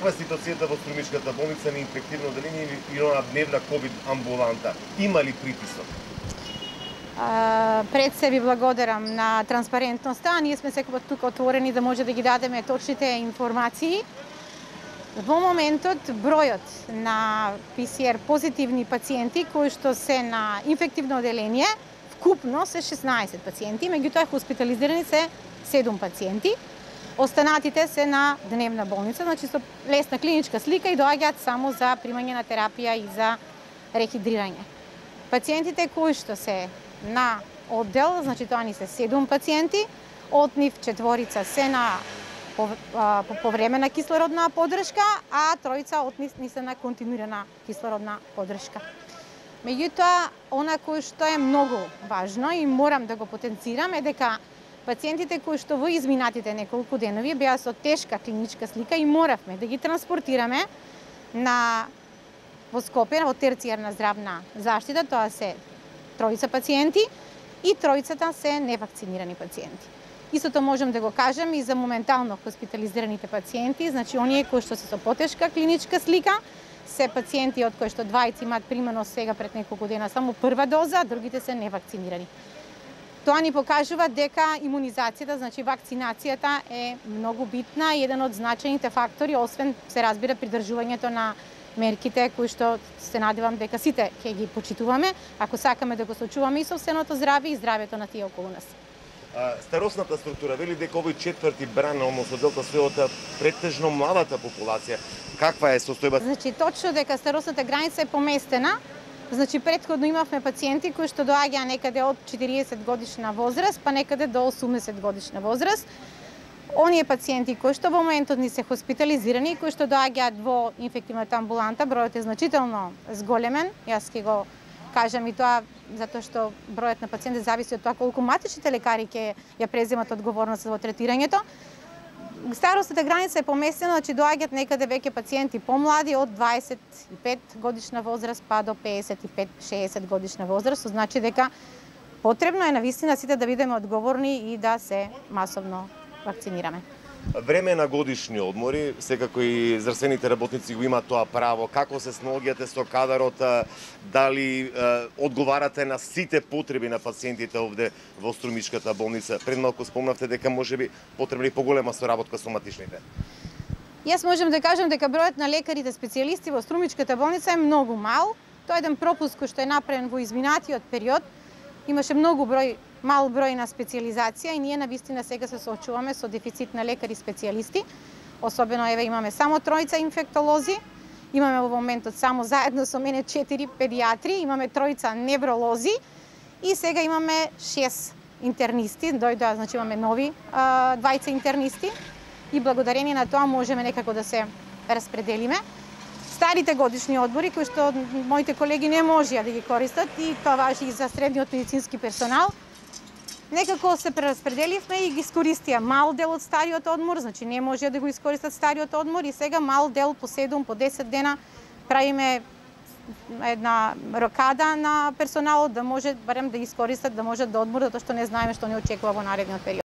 Каква е ситуацијата во Струмичката болница на инфективно одделение и на дневна ковид амбуланта? Има ли притисок? Пред се ви благодарам на транспарентноста. Ние сме секогаш тука отворени да може да ги дадеме точните информации. Во моментот бројот на ПСР позитивни пациенти кои што се на инфективно одделение вкупно се 16 пациенти, меѓутоа хоспитализирани се 7 пациенти. Останатите се на дневна болница, значи со лесна клиничка слика и доаѓаат само за примање на терапија и за рехидрирање. Пациентите кои што се на оддел, значи тоа ни се 7 пациенти, од нив 4 се на повремена кислородна поддршка, а 3 од нив се на континуирана кислородна поддршка. Меѓутоа, она кој што е многу важно и морам да го потенцирам е дека пациентите кои што во изминатите неколку денови беа со тешка клиничка слика и моравме да ги транспортираме во Скопје, во терцијарна здравна заштита, тоа се 3 пациенти и 3 се невакцинирани пациенти. Истото можам да го кажем и за моментално хоспитализираните пациенти, значи оние кои што се со потешка клиничка слика, се пациенти од кои што 2 имаат примено сега пред неколку дена само прва доза, а другите се невакцинирани. Тоа ни покажува дека имунизацијата, значи вакцинацијата е многу битна и еден од значајните фактори, освен се разбира придржувањето на мерките кои што се надевам дека сите ќе ги почитуваме, ако сакаме да го сочуваме и сопственото здравје и здравјето на тие околу нас. Старосната структура вели дека овој 4-ти бран, односно делта се од претежно младата популација. Каква е состојбата? Значи точно дека старосната граница е поместена. Значи претходно имавме пациенти кои што доаѓаа некаде од 40 годишна возраст, па некаде до 80 годишна возраст. Оние пациенти кои што во моментот ни се хоспитализирани и кои што доаѓаат во инфективната амбуланта, бројот е значително зголемен. Јас ќе го кажам и тоа затоа што бројот на пациенти зависи од тоа колку матичните лекари ќе ја преземат одговорност во третирањето. Старосната граница е поместена, значи доаѓаат некаде веќе пациенти помлади од 25 годишна возраст па до 55-60 годишна возраст, што значи дека потребно е навистина сите да бидеме одговорни и да се масовно вакцинираме. Време на годишни одмори, секако и здравствените работници го имаат тоа право. Како се снаоѓате со кадарот, дали одговарате на сите потреби на пациентите овде во Струмичката болница? Пред малку спомнавте дека можеби потребни поголема соработка со матичните. Јас можам да кажам дека бројот на лекарите специјалисти во Струмичката болница е многу мал. Тоа е еден пропуск кој што е направен во изминатиот период. Имаше мал број на специјализација и ние навистина сега се соочуваме со дефицит на лекари специјалисти. Особено еве имаме само 3 инфектолози, имаме во моментот само заедно со мене 4 педиатри, имаме 3 невролози и сега имаме 6 интернисти, дојдоа, значи имаме нови 20 интернисти и благодарение на тоа можеме некако да се распределиме. Старите годишни одмори кои што моите колеги не можеа да ги користат и тоа важи и за средниот медицински персонал. Некако се прераспределивме и ги искористија мал дел од стариот одмор, значи не можеа да го искористат стариот одмор и сега мал дел по 7, по 10 дена правиме една рокада на персоналот да може барем да искористат, да можат да одморат, затоа што не знаеме што не очекува во наредниот период.